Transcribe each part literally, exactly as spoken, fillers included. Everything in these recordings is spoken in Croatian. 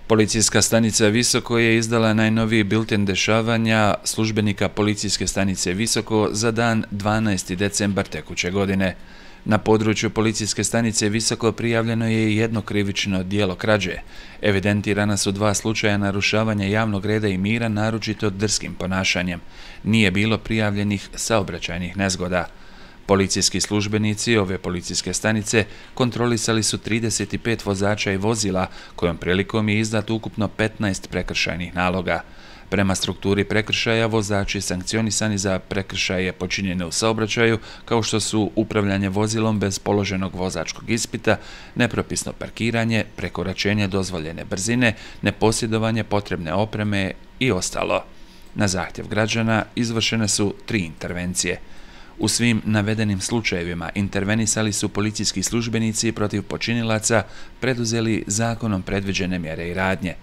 Policijska stanica Visoko je izdala najnoviji bilten dešavanja službenika Policijske stanice Visoko za dan dvanaesti decembar tekuće godine. Na području Policijske stanice Visoko prijavljeno je jedno krivično djelo krađe. Evidentirana su dva slučaja narušavanja javnog reda i mira, naročito drskim ponašanjem. Nije bilo prijavljenih saobraćajnih nezgoda. Policijski službenici ove policijske stanice kontrolisali su trideset pet vozača i vozila, kojom prilikom je izdat ukupno petnaest prekršajnih naloga. Prema strukturi prekršaja, vozači sankcionisani za prekršaje počinjene u saobraćaju, kao što su upravljanje vozilom bez položenog vozačkog ispita, nepropisno parkiranje, prekoračenje dozvoljene brzine, neposjedovanje potrebne opreme i ostalo. Na zahtjev građana izvršene su tri intervencije. U svim navedenim slučajevima intervenisali su policijski službenici protiv počinilaca, preduzeli zakonom predviđene mjere i radnje.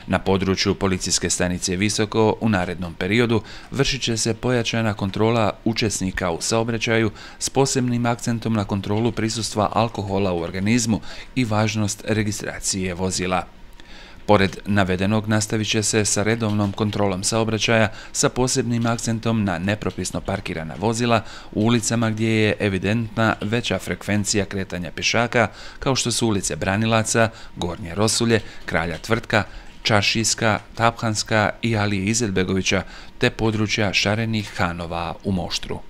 Na području Policijske stanice Visoko u narednom periodu vršit će se pojačana kontrola učesnika u saobraćaju s posebnim akcentom na kontrolu prisustva alkohola u organizmu i važnost registracije vozila. Pored navedenog nastavit će se sa redovnom kontrolom saobraćaja sa posebnim akcentom na nepropisno parkirana vozila u ulicama gdje je evidentna veća frekvencija kretanja pješaka, kao što su ulice Branilaca, Gornje Rosulje, Kralja Tvrtka, Čaršijska, Taphanska i Alije Izetbegovića, te područja Šarenih Hanova u Moštru.